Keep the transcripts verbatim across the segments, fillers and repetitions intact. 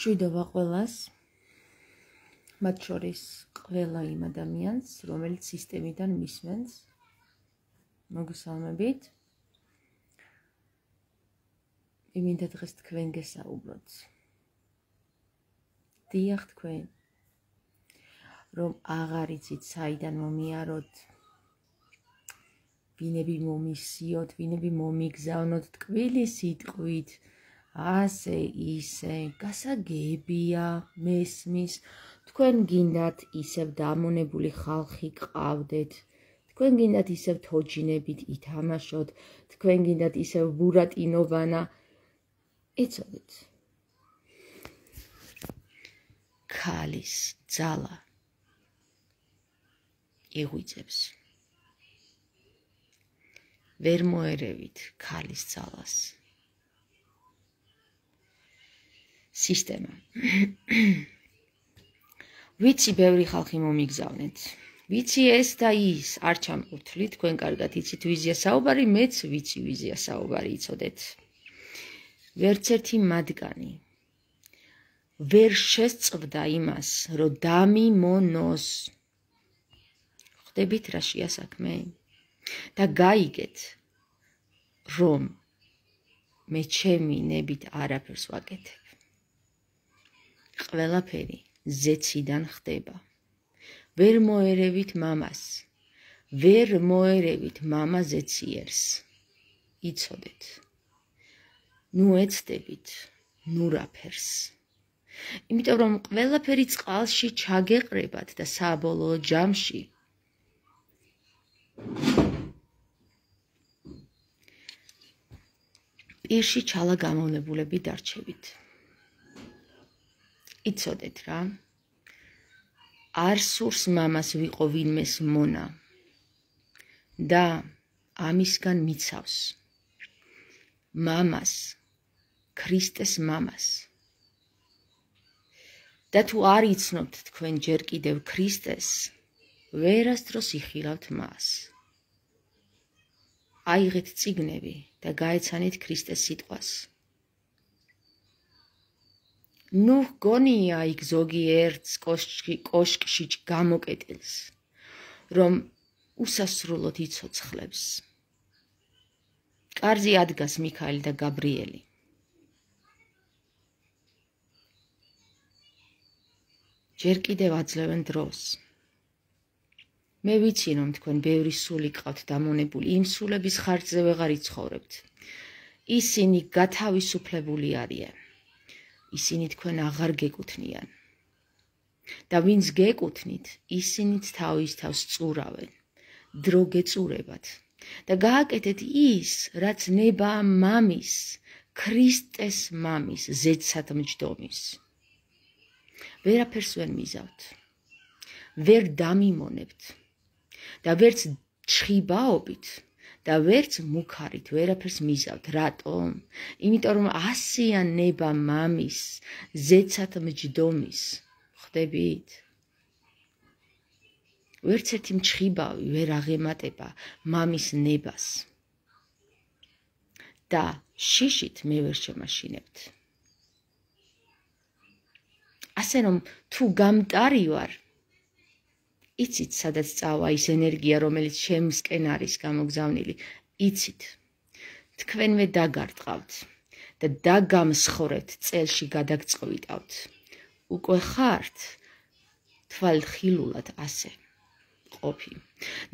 მშვიდობა ყველას, მათ შორის ყველა იმ ადამიანს, რომელიც სისტემიდან მისმენს, მოგესალმებით. მინდა დღეს თქვენ გესაუბროთ. დიახ თქვენ, რომ აღარ იცით საიდან მომიაროთ, ვინები მომისიოთ, ვინები მომიგზავნოთ ტკბილი სიტყვით, ასე ისე, გასაგებია, მესმის, თქვენ გინდათ ისევ დამონებული ხალხი გყავდეთ, თქვენ გინდათ ისევ თოჯინებით ითამაშოთ, თქვენ გინდათ ისევ ბურატინოვანა, იცოდეთ. ქალის ძალა იღვიძებს. ვერ მოერევით ქალის ძალას. სისტემა. ვიცი ბევრი ხალხი მომიგზავნეთ. ვიცი ეს და ის, არ ჩამყურთლით, თქვენ კარგად იცით ვიზია საუბარი, მეც ვიცი ვიზია საუბარი, იცოდეთ. ვერც ერთი მათგანი ვერ შესწვდა იმას, რომ დამიმონოს. ხვდებით რაშია საქმე? და გაიგეთ, რომ მე ჩემი ნებით არაფერს ვაკეთებ. ყველაფერი ზეციდან ხდება. ვერ მოერევით მამას, ვერ მოერევით მამა ზეციერს. იცოდეთ. ნუ ეცდებით ნურაფერს. იმიტომ რომ ყველაფერი წყალში ჩაგეყრებათ და საბოლოო ჯამში პირში ჩალა გამოვნებულები დარჩებით. იცოდეთ რა, არ სურს მამას ვიყო ვინმეს მონა და ამისგან მიცავს მამას, ქრისტეს მამას. და თუ არ იცნობთ თქვენ ჯერ კიდევ ქრისტეს, ვერასდროს იხილავთ მას. აიღეთ წიგნები და გაეცანით ქრისტეს სიტყვას. ნუ გონია იქ ზოგიერთს კოშკში გამოკეტილს, რომ უსასრულოდ იცოცხლებს. კარზე ადგას მიქაელი და გაბრიელი. ჯერ კიდევ აძლევენ დროს. მე ვიცი, რომ თქვენ ბევრი სული გყავთ დამონებული, იმ სულების ხარჯზე ვეღარ იცხოვრებთ. ისინი გათავისუფლებული არიან. ისინი თქვენ აღარ გეკუთვნიან. და ვინც გეკუთვნით, ისინიც თავის თავს წურავენ. დრო გეწურებათ. და გააკეთეთ ის, რაც ნება მამის, ქრისტეს მამის, ზეცად მჯდომის. ვერაფერს ვერ მიზავთ. ვერ დამიმონებთ. და ვერც ჩხიბაობით და ვერც მუქარით ვერაფერს მიზავთ. რატომ? იმიტომ რომ ასია ნება მამის, ზეცად მჯდომის. ხვდებით? ვერც ერთი მჩხიბავი ვერ აღემატება მამის ნებას. და შიშით მე ვერ შემაშინებთ. ასე რომ თუ გამტარი ვარ, იცით სადაც წავა ის ენერგია, რომელიც შემსკენ არის გამოგზავნილი, იცით. თქვენვე დაგარტყავთ და დაგამსხვრეთ წელში გადაგწყვიტავთ. უკვე ხართ თვალხილულად ასე ყოფი.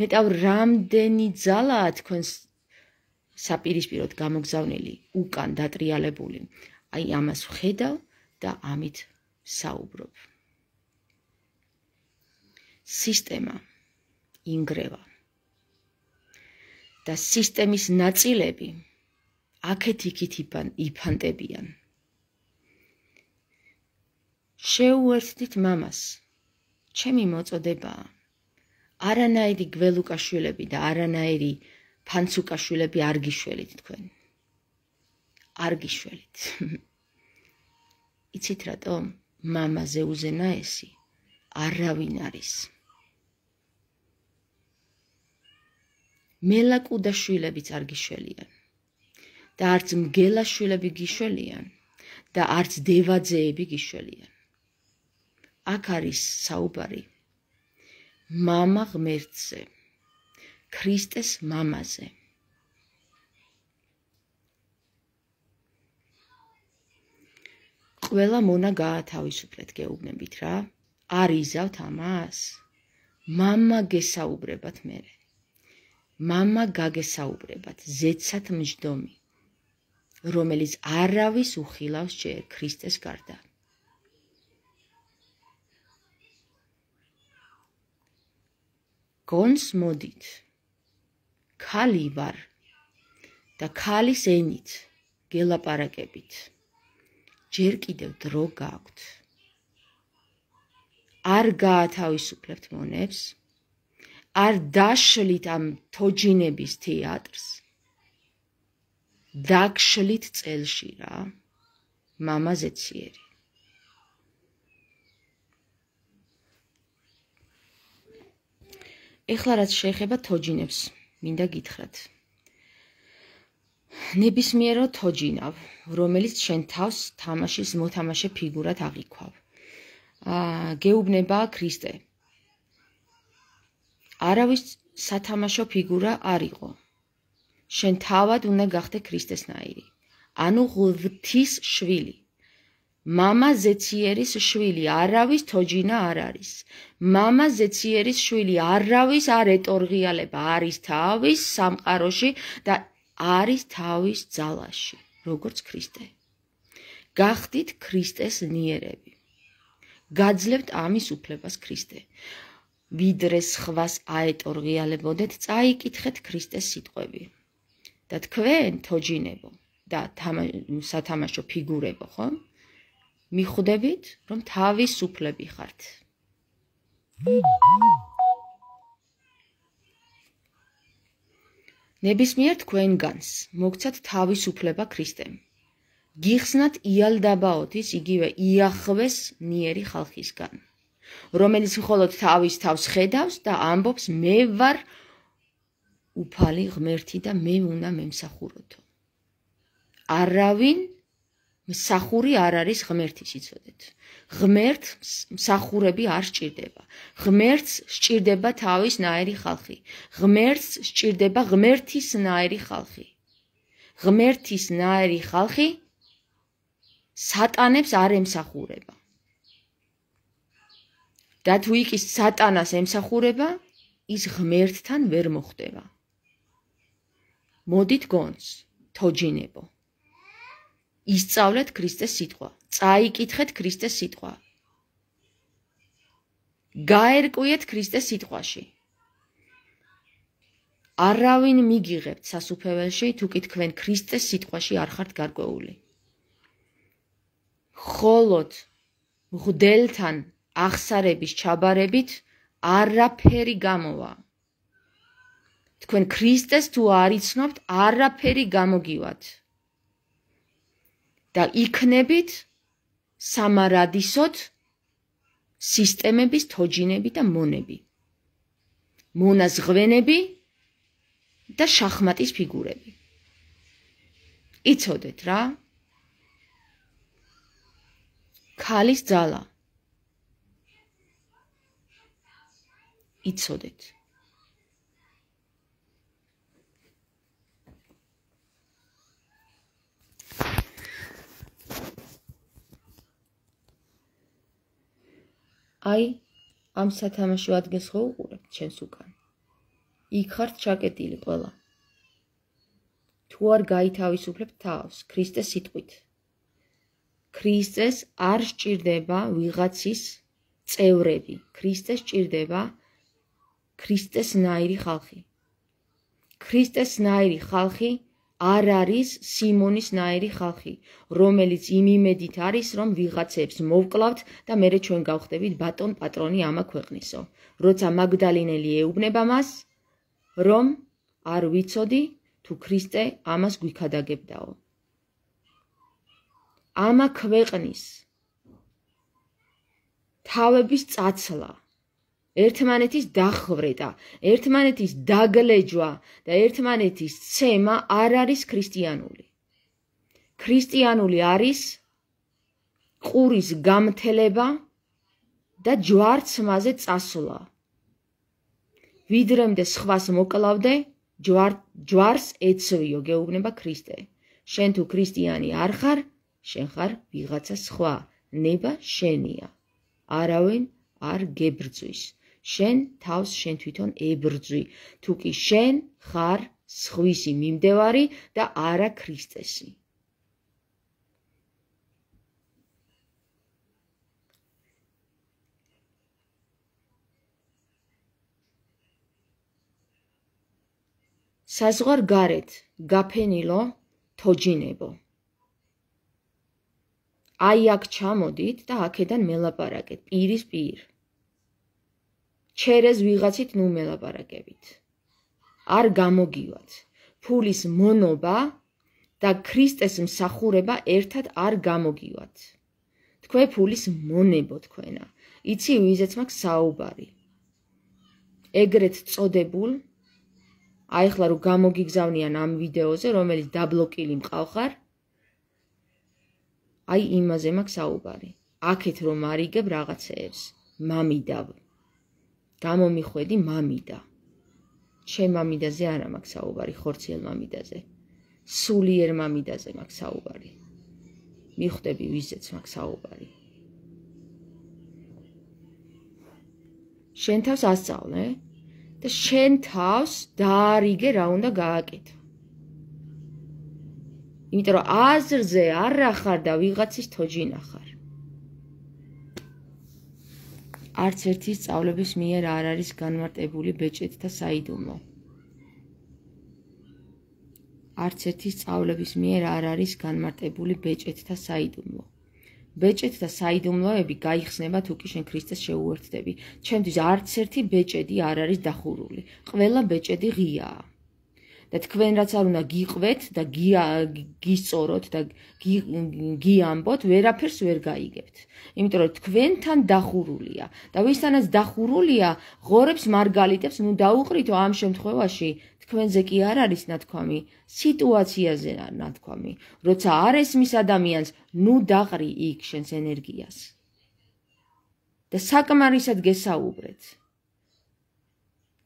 ნეტავ რამდენი ძალაა თქვენს საპირისპიროდ გამოგზავნილი, უკან დატრიალებული. აი ამას ვხედავ და ამით საუბრობ. სისტემა ინგრევა და სისტემის ნაწილები აქეთ-იქით იფანტებიან. შეუერთდით მამას, ჩემი მოწოდებაა. არანაირი გველუკაშვილები და არანაირი ფანცუკაშვილები არ გიშველით თქვენ. არ გიშველით. იცით რატომ? მამაზე უზენაესი არავინ არის. მელაკუდა შვილებიც არ გიშველიან და არც მგელა შვილები გიშველიან და არც დევაძეები გიშველიან. აქ არის საუბარი მამა ღმერთზე, ქრისტეს მამაზე. ყველა მონა გაათავისუფლეთ, გეუბნებით რა. არ იზავთ ამას? მამა გესაუბრებათ მერე. მამა გაგესაუბრებათ, ზეცად მჯდომი, რომელიც არავის უხილავს ჯერ ქრისტეს გარდა. გონს მოდით, ქალი ვარ და ქალის ენით გელაპარაკებით. ჯერ კიდევ დრო გაქვთ. არ გაათავისუფლებთ მონებს, არ დაშლით ამ თოჯინების თეატრს, დაგშლით წელში რა, მამა ზეციერი. ეხლა რაც შეეხება თოჯინებს, მინდა გითხრათ. ნებისმიერო თოჯინავ, რომელიც შენ თავს თამაშის მოთამაშე ფიგურად აღიქვავ. გეუბნება ქრისტე. არავის სათამაშო ფიგურა არ იყო. შენ თავად უნდა გახდე ქრისტესნაირი. ანუ ღვთის შვილი. მამა ზეციერის შვილი, არავის თოჯინა არ არის. მამა ზეციერის შვილი, არავის არ ეტორღიალება, არის თავის სამყაროში და არის თავის ძალაში, როგორც ქრისტე. გახდით ქრისტეს ნიერები. გაძლევთ ამის უფლებას ქრისტე. ვიდრე სხვას აეტორღიალებოდეთ, წაიკითხეთ ქრისტეს სიტყვები. და თქვენ თოჯინებო და სათამაშო ფიგურებო, ხო? მიხვდებით, რომ თავისუფლები ხართ. ნებისმიერ თქვენგანს მოგცათ თავისუფლება ქრისტემ. გიხსნათ იალდაბაოთის იგივე იახვეს ნიერი ხალხისგან, რომელიც მხოლოდ თავის თავს ხედავს და ამბობს მე ვარ უფალი ღმერთი და მე უნდა მემსახუროთო. არავინ მსახური არ არის ღმერთის, იცოდეთ. ღმერთს მსახურები არ სჭირდება. ღმერთს სჭირდება თავისნაირი ხალხი. ღმერთს სჭირდება ღმერთისნაირი ხალხი. ღმერთისნაირი ხალხი სატანებს არ ემსახურება. და თუ იქ სატანას ემსახურება, ის ღმერთთან ვერ მოხვდება. მოდით გონს, თოჯინებო. ისწავლეთ ქრისტეს სიტყვა, წაიკითხეთ ქრისტეს სიტყვა. გაერკვიეთ ქრისტეს სიტყვაში. არავინ მიგიღებთ სასუფეველში, თუ კი თქვენ ქრისტეს სიტყვაში არ ხართ გარკვეული. მხოლოდ მღვდელთან აღსარების ჩაბარებით არაფერი გამოვა. თქვენ ქრისტეს თუ არ იცნობთ, არაფერი გამოგივათ. და იქნებით სამარადისოდ სისტემების თოჯინები და მონები. მონაზღვენები და შახმატის ფიგურები. იცოდეთ რა? ქალის ძალა. იცოდეთ. აი, ამ სათამაშო ადგილს ხო უყურებთ ჩვენს უკან. იქ ხართ ჩაკეტილი ყველა. თუ არ გაითავისუფლებთ თავს ქრისტეს სიტყვით. ქრისტეს არ სჭირდება ვიღაცის წევრები. ქრისტეს სჭირდება ქრისტესნაირი ხალხი. ქრისტესნაირი ხალხი არ არის სიმონისნაირი ხალხი, რომელიც იმ იმედით არის, რომ ვიღაცებს მოვკლავთ და მერე ჩვენ გავხდებით ბატონ პატრონი ამა ქვეყნისო. როცა მაგდალინელი ეუბნება მას, რომ არ ვიცოდი თუ ქრისტე ამას გვიქადაგებდაო. ამა ქვეყნის თავების წაცლა, ერთმანეთის დახვრეტა, ერთმანეთის დაგლეჯვა და ერთმანეთის ცემა არ არის ქრისტიანული. ქრისტიანული არის ყურის გამთელება და ჯვარცმაზე წასვლა. ვიდრემდე სხვას მოკლავდე, ჯვარს ეცვიო, გეუბნება ქრისტე. შენ თუ ქრისტიანი არ ხარ, შენ ხარ ვიღაცა სხვა, ნება შენია. არავინ არ გებრძვის. შენ თავს შენ თვითონ ებრძვი, თუ კი შენ ხარ სხვისი მიმდევარი და არა ქრისტესი. საზღვარ გარეთ გაფენილო თოჯინებო. აი აქ ჩამოდით და აქედან მელაპარაკეთ პირის პირ. ჩერეს ვიღაცით ნუ მელაპარაკებით. არ გამოგივათ. ფულის მონობა და ქრისტეს მსახურება ერთად არ გამოგივათ. თქვენ ფულის მონებო თქვენა. იცი ვიზეც მაქვს საუბარი. ეგრეთ წოდებულ აი ახლა რომ გამოგიგზავნიან ამ ვიდეოზე, რომელიც დაბლოკილი მყავხარ, აი იმაზე მაქვს საუბარი. აქეთ რომ არიგებ რაღაცეებს, მამიდავ. გამომიხვედი მამიდა. ჩემ მამიდაზე არა მაქვს საუბარი, ხორციელ მამიდაზე. სულიერ მამიდაზე მაქვს საუბარი. მიხვდები ვიზეც მაქვს საუბარი. შენ თავს ასწავლე და შენ თავს დაარიგე რა უნდა გააკეთო. იმიტომ რომ აზრზე არ ახარ და ვიღაცის თოჯინა ხარ. არც ერთი სწავლების მიერ არ არის განმარტებული ბეჭედთა საიდუმლო. არც ერთი სწავლების მიერ არ არის განმარტებული ბეჭედთა საიდუმლო. ბეჭედთა საიდუმლოები გაიხსნება თუ კი შენ ქრისტეს შეუერთდები. ჩემთვის არც ერთი ბეჭედი არ არის დახურული. ყველა ბეჭედი ღიაა. და თქვენ რაც არ უნდა გიყვეთ და გისწოროთ და გიამბოთ, ვერაფერს ვერ გაიგებთ. იმიტომ რომ თქვენთან დახურულია და ვისთანაც დახურულია, ღორებს მარგალიტებს, ნუ დაუყრითო ამ შემთხვევაში თქვენზე კი არ არის ნათქვამი, სიტუაციაზე ნათქვამი. როცა არ ესმის ადამიანს, ნუ დაყრი იქ შენს ენერგიას. და საკმარისად გესაუბრეთ.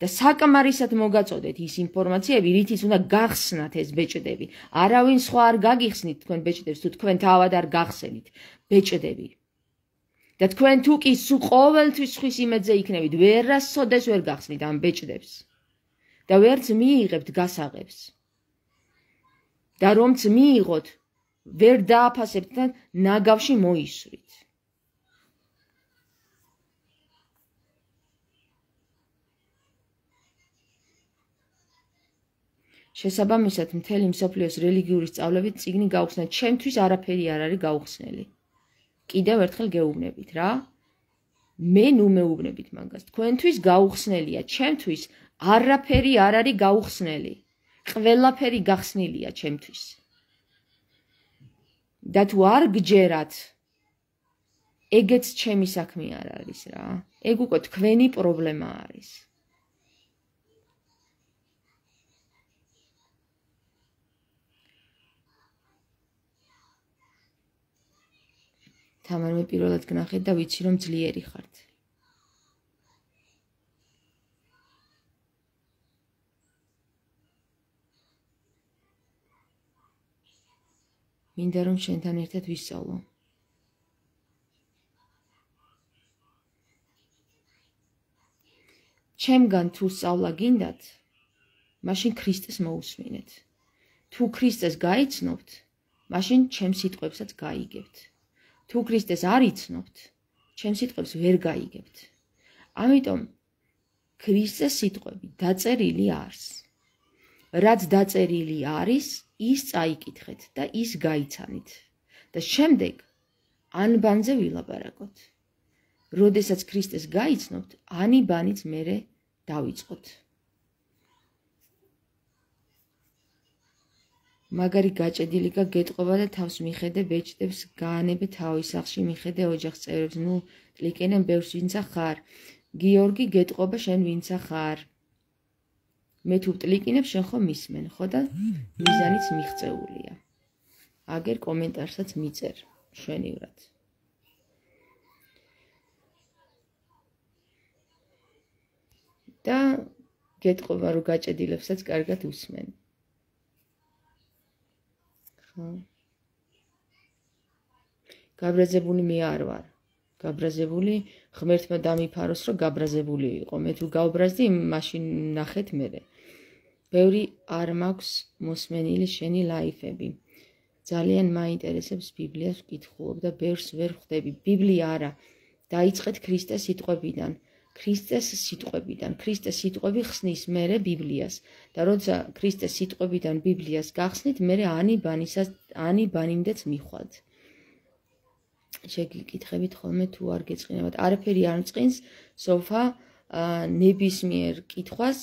და საკმარისად მოგაწოდეთ ის ინფორმაციები, რითიც უნდა გახსნათ ეს ბეჭდები. არავინ სხვა არ გაგიხსნით თქვენ ბეჭდებს, თუ თქვენ თავად არ გახსენით ბეჭდები. და თქვენ თუ კი სულ ყოველთვის ხვის იმედზე იქნებით, ვერასოდეს ვერ გახსნით ამ ბეჭდებს. და ვერც მიიღებთ გასაღებს. და რომც მიიღოთ, ვერ დააფასებთ და ნაგავში მოისვრით. შესაბამისად, მთელი მსოფლიოს რელიგიური სწავლებით წიგნი გაუხსნეთ, ჩემთვის არაფერი არ არის გაუხსნელი. კიდევ ერთხელ გეუბნებით რა. მე ნუ მეუბნებით მაგას. თქვენთვის გაუხსნელია, ჩემთვის არაფერი არ არის გაუხსნელი. ყველაფერი გახსნილია ჩემთვის. და თუ არ გჯერათ, ეგეც ჩემი საქმე არ არის რა. ეგ უკვე თქვენი პრობლემა არის. თამარ მე პირველად გნახეთ და ვიცი რომ ძლიერი ხართ. მინდა რომ შენთან ერთად ვისწავლო. ჩემგან თუ სწავლა გინდათ, მაშინ ქრისტეს მოусმინეთ. თუ ქრისტეს გაიცნობთ, მაშინ ჩემ სიტყვებსაც გაიგებთ. თუ ქრისტეს არ იცნობთ, ჩემ სიტყვებს ვერ გაიგებთ. ამიტომ ქრისტეს სიტყვები დაწერილი არის. რაც დაწერილი არის, ის წაიკითხეთ და ის გაიცანით. და შემდეგ ანბანზე ვილაპარაკოთ. როდესაც ქრისტეს გაიცნობთ, ანიბანიც მერე დავიწყოთ. მაგარი გაჭედილი გაგეტყობა და თავს მიხედე ბეჭდებს გაანებე თავის სახლში მიხედე ოჯახს წევრებს ნუ ტლიკენენ ბევრს ვინცა ხარ გიორგი გეტყობა შენ ვინცა ხარ მე თუ ტლიკინებ შენ ხო მისმენ ხო და მიზანიც მიღწეულია აგერ კომენტარსაც მიწერ შვენივრად და გეტყობა რომ გაჭედილებსაც კარგად უსმენ. ხო. გაბრაზებული მე არ ვარ. გაბრაზებული ღმერთმა დამიფაროს რომ გაბრაზებული იყო. მე თუ გავბრაზდი, მაშინ ნახეთ მერე. ბევრი არ მაქვს მოსმენილი შენი ლაიფები. ძალიან მაინტერესებს ბიბლიას ვკითხულობ და ბევრს ვერ ხვდები. ბიბლია არა. დაიწყეთ ქრისტეს სიტყვებიდან. ქრისტეს სიტყვებიდან. ქრისტეს სიტყვები ხსნის მერე ბიბლიას. და როცა ქრისტეს სიტყვებიდან ბიბლიას გახსნით, მერე ანი ბანისას ანი ბანიმდეც მიხვალთ. შეგიკითხებით ხოლმე თუ არ გეწყინებათ. არაფერი არ მწყინს, სოფა ნებისმიერ კითხვას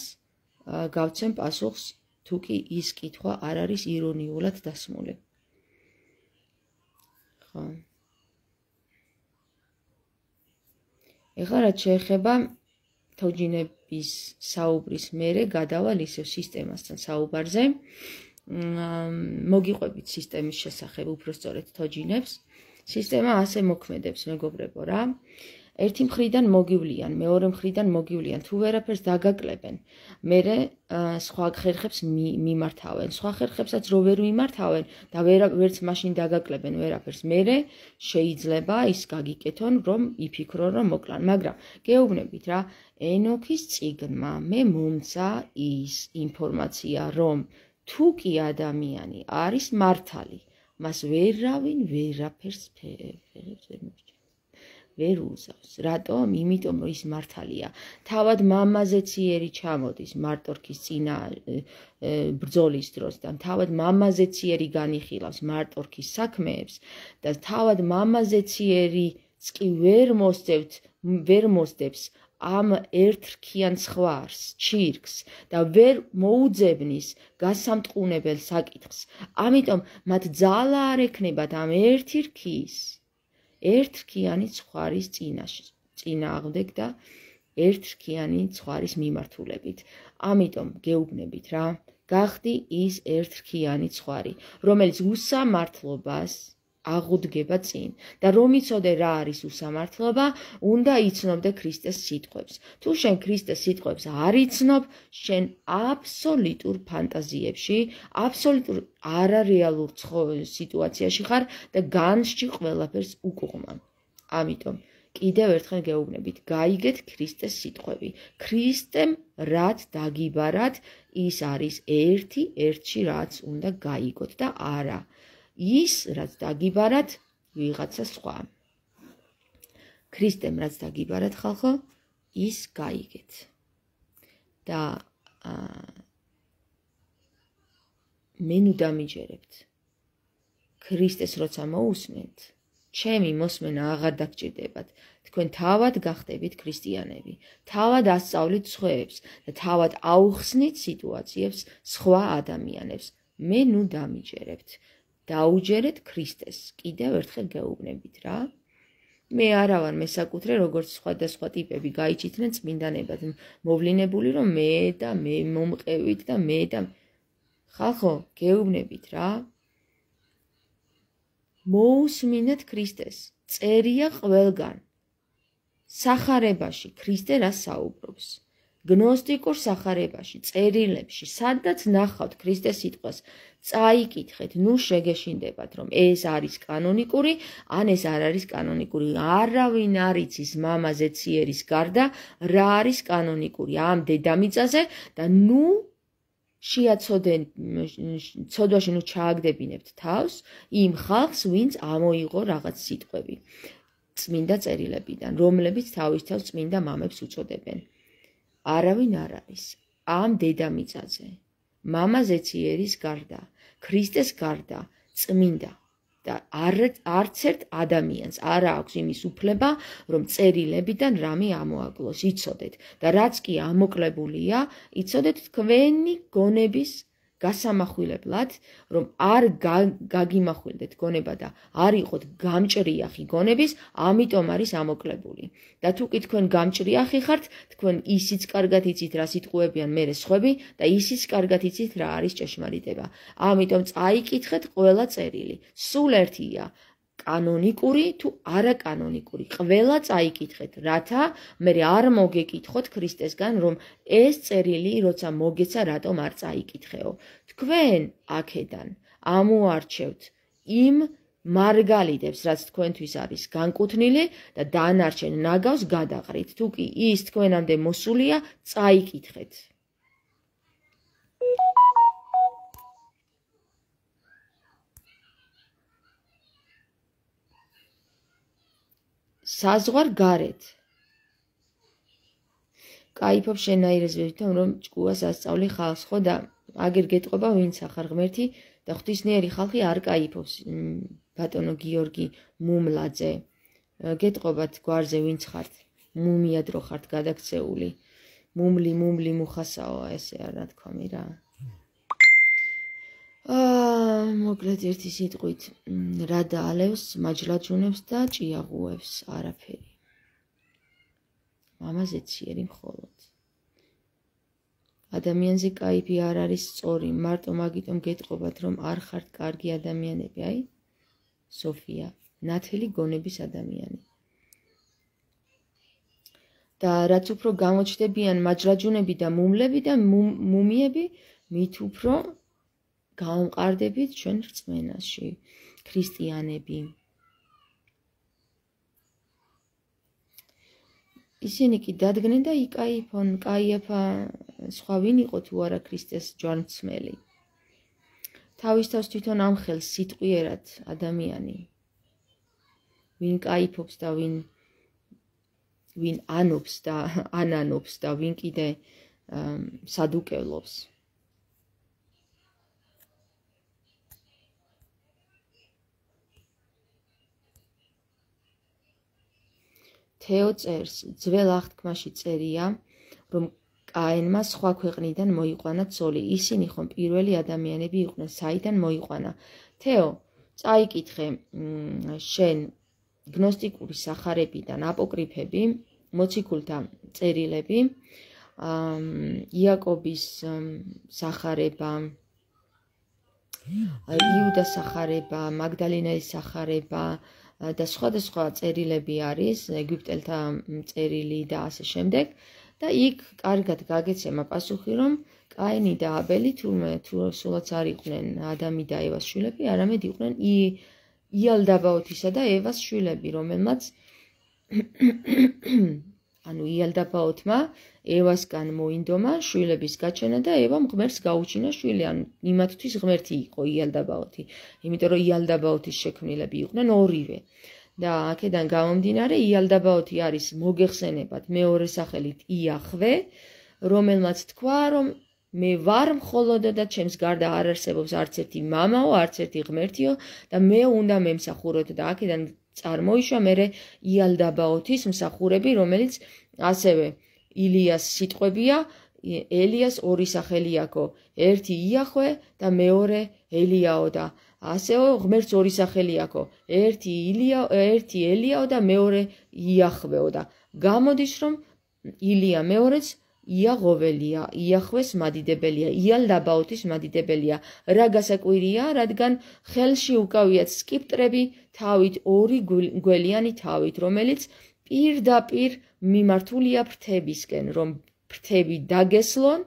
გავცემ პასუხს, თუ კი ის კითხვა არ არის ირონიულად დასმული. ხო. ეხლა რაც შეეხება თოჯინების საუბრის მერე გადავალ ისევ სისტემასთან საუბარზე. მოგიყვებით სისტემის შესახებ, უბრალოდ თოჯინებს. სისტემა ასე მოქმედებს, მეგობრებო რა. ერთი მხრიდან მოგივლიან, მეორე მხრიდან მოგივლიან, თუ ვერაფერს დაგაკლებენ, მერე სხვა ხერხებს მიმართავენ, სხვა ხერხებსაც რო ვერ მიმართავენ და ვერც მაშინ დაგაკლებენ ვერაფერს, მერე შეიძლება ის გაგიკეთონ, რომ იფიქრონ, რომ მოკლან, მაგრამ გეუბნებით რა, ენოქის წიგნმა მე მომცა ის ინფორმაცია, რომ თუ კი ადამიანი არის მართალი, მას ვერავინ ვერაფერს ფერებს ვერ მოჭ ვერ უზავს. რატომ? იმიტომ რომ ის მართალია. თავად მამაზე ციერი ჩამოდის მარტორქის წინა ბრძოლის დროს და თავად მამაზე ციერი განიხილავს მარტორქის საქმეებს და თავად მამაზე ციერიც კი ვერ მოსდევთ, ვერ მოსდევს ამ ერთრქიან ცხვარს, ჩირკს და ვერ მოუძებნის გასამტყუნებელ საკითხს. ამიტომ მათ ძალა არ ექნებათ ამ ერთი რქის ერთრქიანი ცხვარის წინააღმდეგ და ერთრქიანი ცხვარის მიმართულებით. ამიტომ გეუბნებით რა, გახდი ის ერთრქიანი ცხვარი, რომელიც უსამართლობას აღუდგება წინ და რომ იცოდე რა არის უსამართლობა, უნდა იცნობდე ქრისტეს სიტყვებს. თუ შენ ქრისტეს სიტყვებს არ იცნობ, შენ აბსოლუტურ ფანტაზიებში, აბსოლუტურ არარეალურ სიტუაციაში ხარ და განსჯი ყველაფერს უკუღმა. ამიტომ კიდევ ერთხელ გეუბნებით, გაიგეთ ქრისტეს სიტყვები. ქრისტემ რაც დაგიბარათ, ის არის ერთი, ერთში რაც უნდა გაიგოთ და არა ის რაც დაგიბარათ ვიღაცა სხვა. ქრისტემ რაც დაგიბარათ ხალხო, ის გაიგეთ. და მე ნუ დამიჯერებთ. ქრისტეს როცა მოусმენთ, ჩემი მოსმენა აღარ დაგჭირდებათ. თქვენ თავად გახდებით ქრისტიანები, თავად ასწავლით სხვებს და თავად აუხსნით სიტუაციებს სხვა ადამიანებს. მე ნუ დამიჯერებთ. დაუჯერეთ ქრისტეს. კიდევ ერთხელ გეუბნებით რა. მე არა ვარ მესაკუთრე, როგორც სხვადასხვა ტიპები გაიჩითნენ წმინდანებად, მოვლინებული რომ მე და მე მომყევით და მე და ხალხო, გეუბნებით რა. მოусმინეთ ქრისტეს. წერია ყველგან. სახარებაში ქრისტე რა საუბრობს. გნოსტიკურ სახარებაში, წერილებში, სადაც ნახავთ ქრისტეს სიტყვას, წაიკითხეთ, ნუ შეგეშინდებათ, რომ ეს არის კანონიკური, ან ეს არ არის კანონიკური. არავინ არ იცის მამაზე ციერის გარდა, რა არის კანონიკური ამ დედამიწაზე და ნუ შეაცოდენ ცოდვაში ნუ ჩააგდებინებთ თავს იმ ხალხს, ვინც ამოიღო რაღაც სიტყვები წმინდა წერილებიდან, რომლებიც თავის თავს წმინდა მამებს უწოდებენ. არავინ არ არის ამ დედამიწაზე, მამაზე ციერის გარდა, ქრისტეს გარდა, წმინდა და არც ერთ ადამიანს არ აქვს იმის უფლება, რომ წერილებიდან რამე ამოაკლოს, იცოდეთ და რაც კი ამოკლებულია, იცოდეთ თქვენი გონების გასამახვილებლად, რომ არ გაგიმახვილდეთ გონება და არ იყოთ გამჭრიახი გონების, ამიტომ არის ამოკლებული. და თუ კი თქვენ გამჭრიახი ხართ, თქვენ ისიც კარგად იცით რა სიტყვებიან მერე სხვები და ისიც კარგად იცით რა არის ჭეშმარიტება. ამიტომ წაიკითხეთ ყველა წერილი. სულ ერთია. კანონიკური თუ არაკანონიკური, ყველა წაიკითხეთ, რათა მე არ მოგეკითხოთ ქრისტესგან, რომ ეს წერილი როცა მოგეცა, რატომ არ წაიკითხეო. თქვენ აქედან ამოარჩევთ იმ მარგალიტებს, რაც თქვენთვის არის განკუთვნილი და დანარჩენ ნაგავს გადაყრით. თუ კი ის თქვენამდე მოსულია, წაიკითხეთ. საზღვარ გარეთ. კაიფობ შენაირეს ვეთვითონ, რომ ჭკუას ასწავლი ხალხს, ხო და აგერ გეტყობა ვინც ახარ ღმერთი და ღვთისმიერი ხალხი არ კაიფობს. ბატონო გიორგი მუმლაძე, გეტყობათ გვარზე ვინც ხართ, მუმიად რო ხართ გადაქცეული, მუმლი მუმლი მუხასაო, ესე არა თქვამი რა. აა, მოკლედ ერთი სიტყვით, რა დაალევს მაჯლაჯუნებს და ჭიაღუებს, არაფერი. მამაზე ციერი მხოლოდ. ადამიანზე კაიფი არ არის სწორი, მარტო მაგიტომ გეტყობათ, რომ არ ხართ კარგი ადამიანები, აი? სოფია, ნათელი გონების ადამიანი. და რაც უფრო გამოჩნდებიან მაჯლაჯუნები და მუმლები და მუმიები, მით უფრო გამყარდებით ჩვენ რწმენაში, ქრისტიანები. ისინი კი დადგნენ და იკაიფონ, კაიაფა სხვა ვინ იყო თუ არა ქრისტეს ჯვარცმელი. თავის თავს თვითონ ამხელს სიტყვიერად ადამიანი. ვინ კაიფობს და ვინ ვინ ანობს და ანანობს და ვინ კიდე სადუკევლობს. თეო წერს, ძველ აღთქმაში წერია, რომ კაენმა სხვა ქვეყნიდან მოიყვანა ცოლი. ისინი ხომ პირველი ადამიანები იყვნენ, საიდან მოიყვანა. თეო, წაიკითხე შენ გნოსტიკური სახარებიდან აპოკრიფები, მოციქულთა წერილები, იაკობის სახარება, იუდას სახარება, მაგდალინელის სახარება და სხვადასხვა წერილები არის, ეგვიპტელთა წერილი და ასე შემდეგ. და იქ კარგად გაგეცემა პასუხი, რომ კაინი და აბელი თურმე თუ სულაც არ იყვნენ ადამი და ევას შვილები, არამედ იყვნენ იალდაბაოთისა და ევას შვილები, რომელმაც ანუ იალდაბაოთმა ევასგან მოინდომა შვილების გაჩენა და ევამ ღმერთს გაუჩინა შვილი, ანუ იმათთვის ღმერთი იყო იალდაბაოთი, იმიტომ რომ იალდაბაოთის შექმნილები იყვნენ ორივე. და აქედან გამომდინარე იალდაბაოთი არის მოგეხსენებათ მეორე სახელით იახვე, რომელმაც თქვა, რომ მე ვარ მხოლოდო და ჩემს გარდა არ არსებობს არც ერთი მამაო, არც ერთი ღმერთიო და მე უნდა მემსახუროთ და აქედან წარმოიშვა მერე იალდაბაოთის მსახურები, რომელიც ასევე ილიას სიტყვებია, ელიას ორი სახელი აქვს, ერთი იახვე და მეორე ელიაო და ასევე ღმერთს ორი სახელი აქვს, ერთი ილია, ერთი ელიაო და მეორე იახვეო და გამოდის, რომ ილია მეორეც იაღოველია, იახვეს მადიდებელია, იალდაბაოთის მადიდებელია. რა გასაკვირია, რადგან ხელში უკავიათ სკიპტრები თავით, ორი გველიანი თავით, რომელიც პირდაპირ მიმართულია ფრთებისკენ, რომ ფრთები დაგესლონ,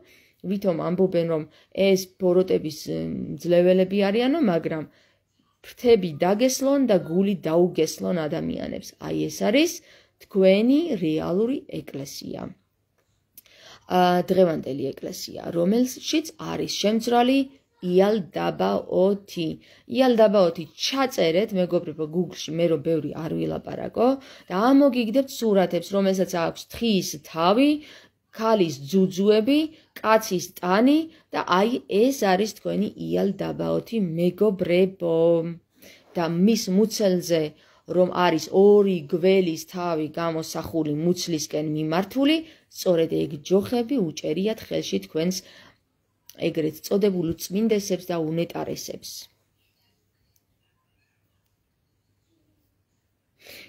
ვითომ ამბობენ, რომ ეს ბოროტების ძლეველები არიანო, მაგრამ ფრთები დაგესლონ და გული დაუგესლონ ადამიანებს. აი ეს არის თქვენი რეალური ეკლესია. დღევანდელი ეკლესია, რომელშიც არის შემძრალი იალდაბაოთი. იალდაბაოთი ჩაწერეთ, მეგობრებო, Google-ში, მე რომ ბევრი არ ვილაპარაკო და ამოგიგდებთ სურათებს, რომელსაც აქვს თხის თავი, ქალის ძუძუები, კაცის ტანი და აი ეს არის თქვენი იალდაბაოთი, მეგობრებო. და მის მუცელზე რომ არის ორი გველის თავი გამოსახული მუცლისკენ მიმართული, სწორედ ეგ ჯოხები უჭერიათ ხელში თქვენს ეგრეთ წოდებულ წმინდესებს და უნეტარესებს.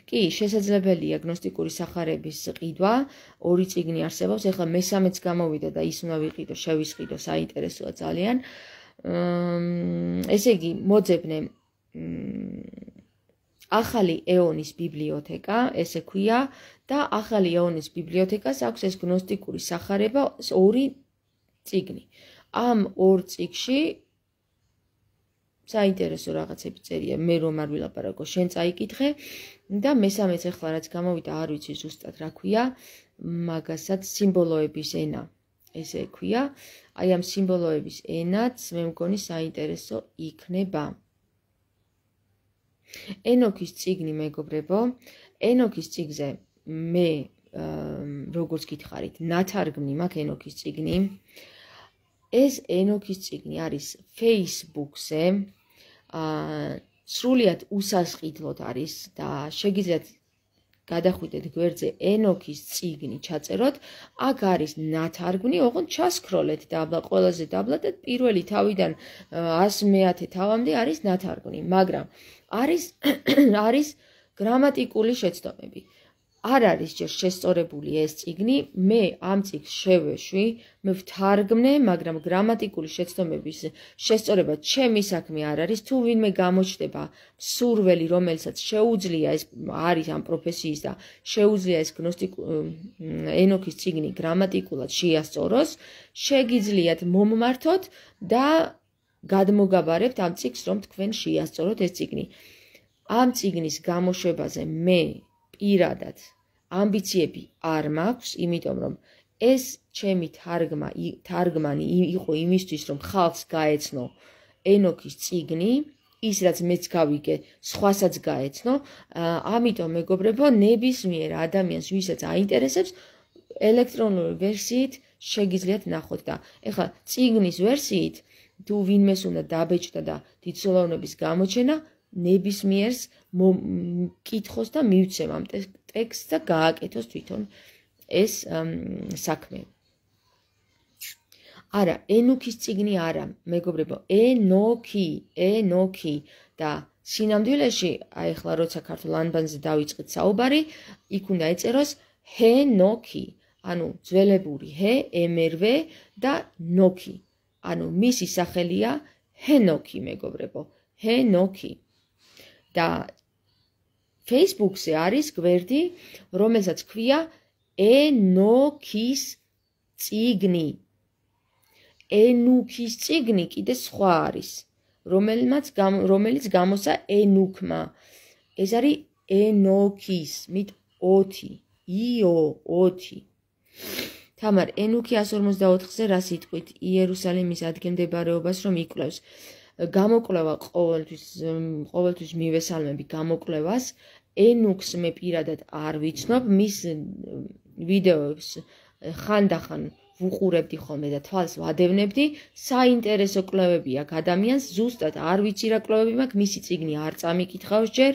კი, შესაძლებელია გნოსტიკური სახარების ყიდვა, ორი წიგნი არსებობს, ეხლა მესამეც გამოვიდა და ის უნდა ვიყიდო, შევისყიდო, საინტერესოა ძალიან. ესე იგი, მოძებნე ახალი ეონის ბიბლიოთეკა, ესე ქვია და ახალი ეონის ბიბლიოთეკას აქვს ეს გნოსტიკური სახარება ორი წიგნი. ამ ორ წიგნში საინტერესო რაღაცები წერია, მე რომ არ ვილაპარაკო, შენ წაიკითხე და მესამეც ახლა რაც გამოვიდა, არ ვიცი ზუსტად რა ქვია, მაგასაც სიმბოლოების ენა. ესე ქვია, აი ამ სიმბოლოების ენაც მე მგონი საინტერესო იქნება. ენოქის წიგნი მეგობრებო, ენოქის წიგნზე მე როგორც გითხარით, ნათარგმნი მაქვს ენოქის წიგნი. ეს ენოქის წიგნი არის Facebook-ზე, სრულიად უსასყიდლოდ არის და შეგიძლიათ გადახვიდეთ გვერდზე ენოქის წიგნი ჩაწეროთ, აქ არის ნათარგმნი, ოღონდ ჩასკროლეთ და აბა ყველაზე დაბლა და პირველი თავიდან ას მეათე თავამდე არის ნათარგმნი, მაგრამ არის არის გრამატიკული შეცდომები. არ არის ჯერ შესწორებული ეს წიგნი, მე ამ წიგნს შევეშვი, მე ვთარგმნე, მაგრამ გრამატიკული შეცდომების შესწორება ჩემი საქმე არ არის, თუ ვინმე გამოჩნდება სურველი, რომელსაც შეუძლია ეს არის ამ პროფესიის და შეუძლია ეს ენოქის წიგნი გრამატიკულად შეასწოროს, შეგიძლიათ მომმართოთ და გადმოგაბარებთ ამ წიგნს, რომ თქვენ შეასწოროთ ეს წიგნი. ამ წიგნის გამოშვებაზე მე პირადად ამბიციები არ მაქვს, იმიტომ რომ ეს ჩემი თარგმა თარგმანი იყო იმისთვის, რომ ხალხს გაეცნო ენოქის წიგნი, ის რაც მეც გავიგე, სხვასაც გაეცნო, ამიტომ მეგობრებო, ნებისმიერ ადამიანს, ვისაც აინტერესებს, ელექტრონული ვერსიით შეგიძლიათ ნახოთ და ეხლა წიგნის ვერსიით თუ ვინმეს უნდა დაბეჭდა და დიდწლოვნების გამოჩენა, ნებისმიერს კითხოს და მივცემ ამ ტექსტს და გააკეთოს თვითონ ეს საქმე. არა, ენოქის წიგნი არა, მეგობრებო, ენოქი, ენოქი და სინამდვილეში, აი ახლა როცა ქართულ ანბანზე დავიწყეთ საუბარი, იქ უნდა ეწეროს ჰენოქი, ანუ ძველებური ჰე, ემერვე და ნოქი. ანუ მისი სახელია ჰენოქი, მეგობრებო, ჰენოქი. და Facebook-ზე არის გვერდი, რომელსაც ქვია ენოქის წიგნი. ენუქის წიგნი კიდე სხვა არის, რომელიც გამოსა ენუქმა. ეს არის ენოქის, მით ოთი, იო ოთი. თამარ, ენუქი εκατს ორმოცდაოთხზე რა სიტყვით იერუსალიმის ადგილმდებარეობას რომ იკვლევს? გამოკვლევა ყოველთვის ყოველთვის მივესალმები გამოკვლევას. ენუქს მე პირადად არ ვიცნობ, მის ვიდეოებს ხანდახან ვუყურებდი ხოლმე და თვალს ვადევნებდი. საინტერესო კვლევები აქვს ადამიანს, ზუსტად არ ვიცი რა კვლევები მაქვს, მისი წიგნი არ წამიკითხავს ჯერ,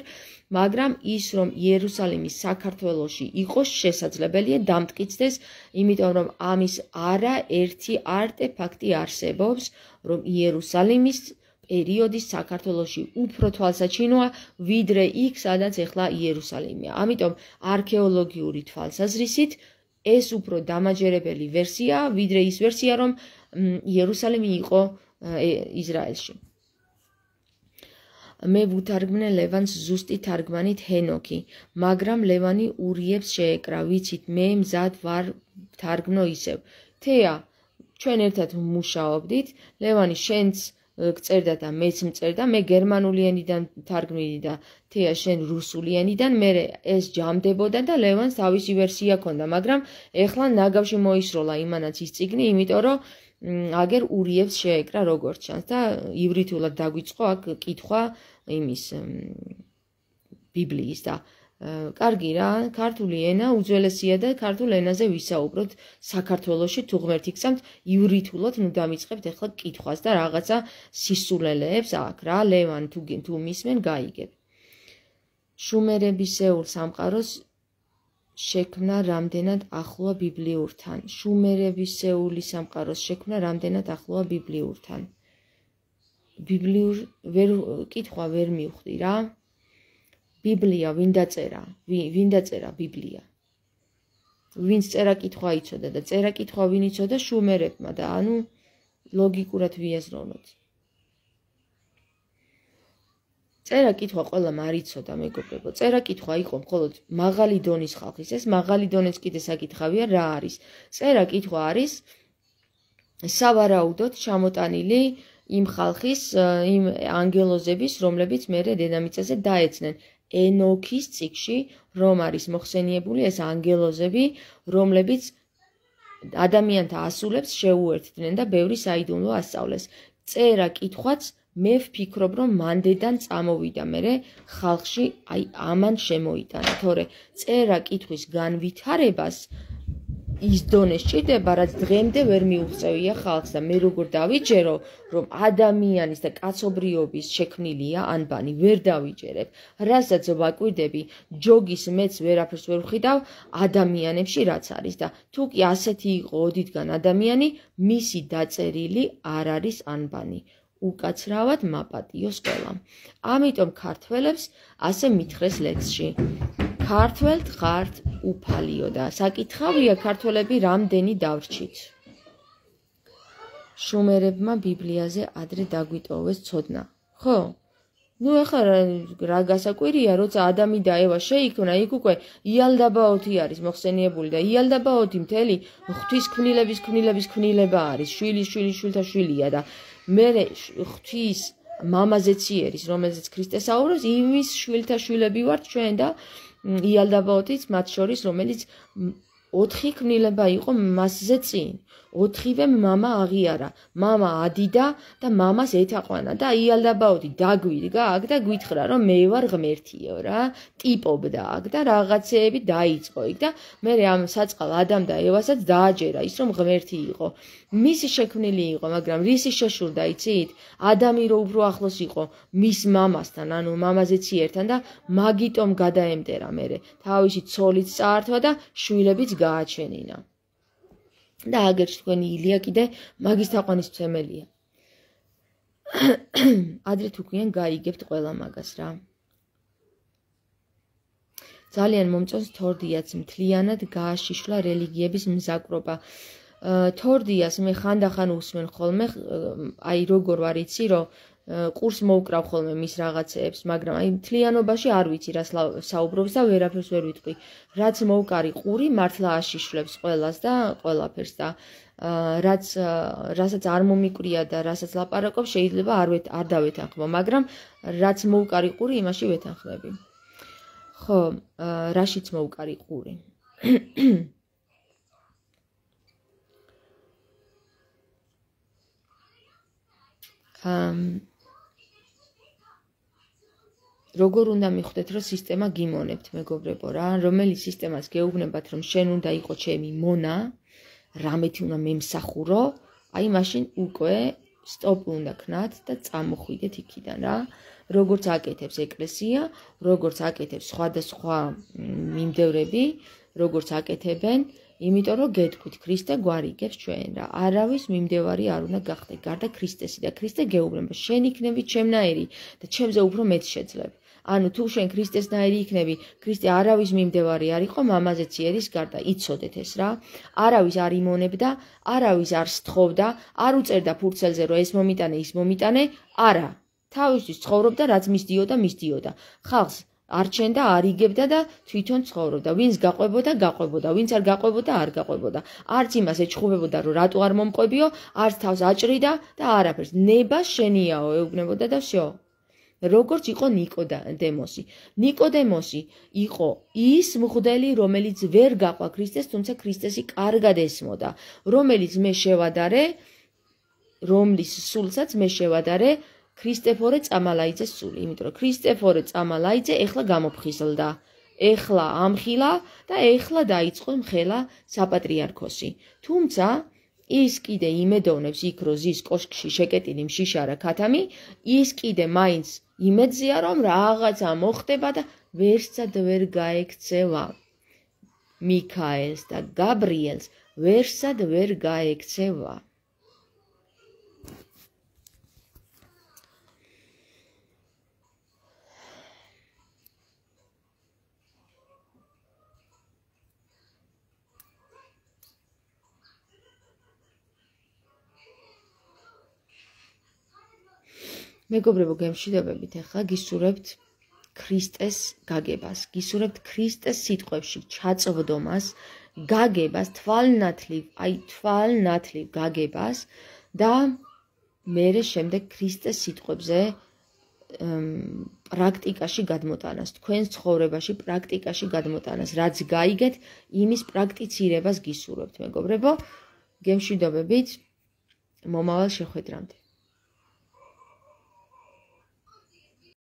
მაგრამ ის რომ იერუსალიმის საქართველოში იყოს შესაძლებელია დამტკიცდეს, იმიტომ რომ ამის არაერთი არტეფაქტი არსებობს, რომ იერუსალიმის პერიოდის საქართველოში უფრო თვალსაჩინოა, ვიდრე იქ, სადაც ეხლა იერუსალიმია. ამიტომ არქეოლოგიური თვალსაზრისით ეს უფრო დამაჯერებელი ვერსიაა, ვიდრე ის ვერსია, რომ იერუსალიმი იყო ისრაელში. მე ვუთარგმნე ლევანს ზუსტი თარგმანით ჰენოქი, მაგრამ ლევანი ურიებს შეეკრა, ვიცით, მე მზად ვარ ვთარგმნო ისევ. თეა, ჩვენ ერთად ვმუშაობდით, ლევანი შენც გწერდა და მეც მწერდა, მე გერმანული ენიდან თარგმნიდი და თეა შენ რუსული ენიდან, მე ეს ჯამდებოდა და ლევანს თავისი ვერსია ჰქონდა, მაგრამ ეხლა ნაგავში მოისროლა იმანაც ის წიგნი, იმიტომ რომ აგერ ურიებს შეეკრა როგორც ჩანს და ივრითულად დაგვიწყო აქ კითხვა იმის ბიბლიის და კარგი რა, ქართული ენა უძველესია და ქართულ ენაზე ვისაუბროთ საქართველოში თუ ღმერთი გსამთ, ივრითულად ნუ დამიწყებთ ახლა კითხვას და რაღაცა სისულელეებს აქ რა, ლევან თუ თუ მისმენ გაიგებ. შუმერებისეულ სამყაროს შექმნა რამდენად ახლოა ბიბლიურთან. შუმერებისეული სამყაროს შექმნა რამდენად ახლოა ბიბლიურთან. ბიბლიურ ვერ კითხვა ვერ მივხვდი რა. ბიბლია ვინ დაწერა? ვინ დაწერა ბიბლია? ვინც წერა კითხვა იცოდა და წერა კითხვა ვინ იცოდა? შუმერებმა და ანუ ლოგიკურად ვიაზროვნოთ. წერა კითხვა ყველამ არ იცოდა მეგობრებო. წერა კითხვა იყო მხოლოდ მაღალი დონის ხალხის. ეს მაღალი დონეც კიდე საკითხავია რა არის. წერა კითხვა არის სავარაუდოდ ჩამოტანილი იმ ხალხის, იმ ანგელოზების, რომლებიც მერე დედამიწაზე დაეცნენ. ენოქის წიგში, რომ არის მოხსენიებული ეს ანგელოზები, რომლებიც ადამიანთა ასულებს შეუერთდნენ და ბევრი საიდუმლო ასწავლეს. წერა კითხვაც მე ვფიქრობ, რომ მანდედან წამოვიდა, მერე ხალხში აი ამან შემოიტანა, თორე წერა კითხვის განვითარებას ის დონე სჭირდება, რაც დღემდე ვერ მიუღწევია ხალხს და მე როგორ დავიჯერო, რომ ადამიანის და კაცობრიობის შექმნილია ანბანი, ვერ დავიჯერებ. რასაც ვაკვირდები, ჯოგის მეც ვერაფერს ვერ ვხედავ ადამიანებში რაც არის და თუ კი ასეთი იყო ოდითგან ადამიანი, მისი დაწერილი არ არის ანბანი. უკაცრავად მაპატიოს ყველამ. ამიტომ ქართველებს ასე მითხრეს ლექსში. ქართველთ ხართ უფალიო და საკითხავია ქართველები რამდენი დავრჩით. შუმერებმა ბიბლიაზე ადრე დაგვიტოვეს ცოდნა. ხო? ნუ ეხლა რა გასაკვირია, როცა ადამი და ევა შეიქმნა, იქ უკვე იალდაბაოთი არის მოხსენიებული და იალდაბაოთი მთელი ღვთის ქმნილების ქმნილების ქმნილება არის, შვილი შვილი შვილთა შვილია და მე ღვთის მამაზეც იერის, რომელზეც ქრისტე საუბრობს, იმის შვილთა შვილები ვართ ჩვენ და იალდაბაოთიც მათ შორის, რომელიც ოთხი ქმნილება იყო მასზე წინ. ოთხივე მამა აღიარა, მამა ადიდა და მამას ეთაყვანა და იალდაბაოთი დაგვიდგა აქ და გვითხრა, რომ მე ვარ ღმერთიო რა, ტიპობდა აქ და რაღაცეები დაიწყო იქ და მე ამ საწყალ ადამ და ევასაც დააჯერა ის, რომ ღმერთი იყო. მისი შექმნილი იყო, მაგრამ რისი შეშურდა იცით? ადამი რო უფრო ახლოს იყო მის მამასთან, ანუ მამაზეც იერთან და მაგიტომ გადაემტერა მერე. თავისი ცოლიც წაართვა და შვილებიც გააჩენინა. და აგერში თქვენი ილია კიდე მაგის თაყვანისმცემელია. ადრე თუ გვიან გაიგებთ ყველა მაგას რა. ძალიან მომწონს თორდიაც მთლიანად გააშიშლა რელიგიების მზაკრობა. თორდიას მე ხანდახან უსმენ ხოლმე, აი როგორ ვარ იცი, რომ ყურს მოუკრავ ხოლმე მის რაღაცეებს, მაგრამ აი მთლიანობაში არ ვიცი რა საუბრობს და ვერაფერს ვერ ვიტყვი. რაც მოუკარი ყური მართლა აშიშვლებს ყველას და ყველაფერს და რაც რასაც არ მომიკვრია და რასაც ლაპარაკობს შეიძლება არ არ დავეთანხმო, მაგრამ რაც მოუკარი ყური იმაში ვეთანხმები. ხო, რაშიც მოუკარი ყური. როგორ უნდა მიხვდეთ, რომ სისტემა გიმონებთ, მეგობრებო რა, რომელი სისტემას გეუბნებათ, რომ შენ უნდა იყო ჩემი მონა, რამეთი უნდა მემსახურო, აი მაშინ უკვე სტოპი უნდა ქნათ და წამოხვიდეთ იქიდან რა. როგორც აკეთებს ეკლესია, როგორც აკეთებს სხვადასხვა მიმდევრები, როგორც აკეთებენ, იმიტომ რომ გეტყვით, ქრისტე გვარიგებს ჩვენ რა. არავის მიმდევარი არ უნდა გახდე, გარდა ქრისტესი და ქრისტე გეუბნება, შენ იქნები ჩემნაირი და ჩემზე უფრო მეტ შეძლებ. ანუ თუ შენ ქრისტესნაირი იქნები, ქრისტე არავის მიმდევარი არ იყო, მამაზეც იერის გარდა, იცოდეთ ეს რა. არავის არ იმონებდა, არავის არ სთხოვდა, არ უწერდა ფურცელზე, რომ ეს მომიტანე, ის მომიტანე, არა. თავისთვის ცხოვრობდა, რაც მისდიოდა, მისდიოდა. ხალხს არჩენდა, არიგებდა და თვითონ ცხოვრობდა. ვინც გაყვებოდა, გაყვებოდა, ვინც არ გაყვებოდა, არ გაყვებოდა. არც იმას ეჩხუბებოდა, რომ რატო არ მომყვებიო, არც თავს აჭრიდა და არაფერს. ნება შენიაო ეუბნებოდა და всё. როგორც იყო ნიკოდემოსი. ნიკოდემოსი იყო ის მღვდელი, რომელიც ვერ გაყვა ქრისტეს, თუმცა ქრისტესი კარგად ესმოდა, რომელიც მე შევადარე, რომლის სულსაც მე შევადარე ქრისტეფორე წამალაიძეს სული, იმიტომ რომ ქრისტეფორე წამალაიძე ეხლა გამოფხიზლდა, ეხლა ამხილა და ეხლა დაიწყო მხელა საპატრიარქოსი. თუმცა ის კიდე იმედოვნებს იქ რო ზის კოშკში შეკეტილი მშიშარა ქათამი, ის კიდე მაინც იმედზია რომ რაღაცა მოხდება და ვერსად ვერ გაექცევა. მიქაელს და გაბრიელს ვერსად ვერ გაექცევა. მეგობრებო, გემშვიდობებით, ახლა გისურვებთ ქრისტეს გაგებას, გისურვებთ ქრისტეს სიტყვებში ჩაწვდომას, გაგებას, თვალნათლივ, აი თვალნათლივ გაგებას და მერე შემდეგ ქრისტეს სიტყვებზე პრაქტიკაში გადმოტანას, თქვენს ცხოვრებაში პრაქტიკაში გადმოტანას, რაც გაიგეთ, იმის პრაქტიცირებას გისურვებთ, მეგობრებო, გემშვიდობებით, მომავალ შეხვედრამდე.